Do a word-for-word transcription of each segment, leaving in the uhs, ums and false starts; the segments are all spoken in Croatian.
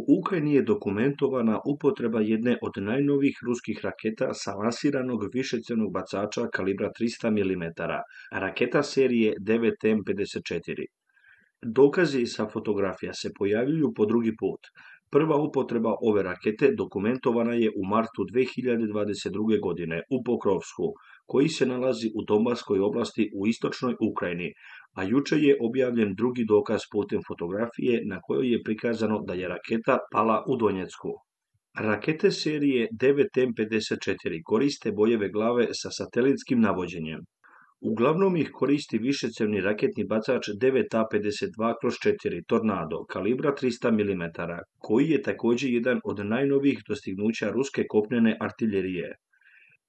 U Ukrajini je dokumentovana upotreba jedne od najnovijih ruskih raketa sa lansiranog višecjevnog bacača kalibra trista milimetara, raketa serije devet M pedeset četiri. Dokazi sa fotografija se pojavljuju po drugi put. Prva upotreba ove rakete dokumentovana je u martu dve hiljade dvadeset druge. godine u Pokrovsku, koji se nalazi u Donbaskoj oblasti u istočnoj Ukrajini, a jučer je objavljen drugi dokaz putem fotografije na kojoj je prikazano da je raketa pala u Donjecku. Rakete serije devet M pedeset četiri koriste bojeve glave sa satelitskim navođenjem. Uglavnom ih koristi višecjevni raketni bacač devet A pedeset dva kroz četiri Tornado kalibra trista milimetara, koji je također jedan od najnovijih dostignuća ruske kopnene artiljerije.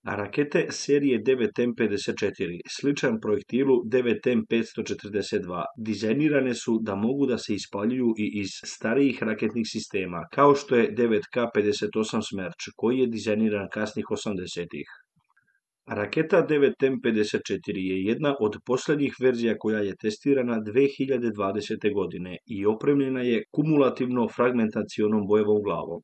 A rakete serije devet M pedeset četiri, sličan projektilu devet M petsto četrdeset dva, dizajnirane su da mogu da se ispaljuju i iz starijih raketnih sistema, kao što je devet K pedeset osam Smerč, koji je dizajniran kasnih osamdesetih. Raketa devet M pedeset četiri je jedna od posljednjih verzija koja je testirana dve hiljade dvadesete. godine i opremljena je kumulativno fragmentacionom bojevom glavom.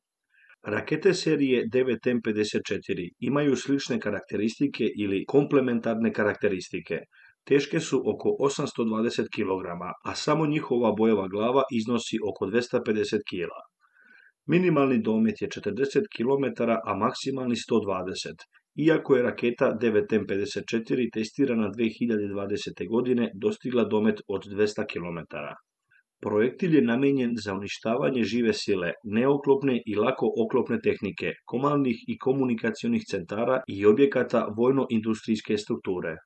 Rakete serije devet M pedeset četiri imaju slične karakteristike ili komplementarne karakteristike. Teške su oko osamsto dvadeset kilograma, a samo njihova bojeva glava iznosi oko dvesta pedeset kilograma. Minimalni domet je četrdeset kilometara, a maksimalni sto dvadeset. Iako je raketa devet M pedeset četiri testirana dve hiljade dvadesete. godine dostigla domet od dvesta kilometara. Projektil je namijenjen za uništavanje žive sile, neoklopne i lako oklopne tehnike, komandnih i komunikacionih centara i objekata vojno-industrijske strukture.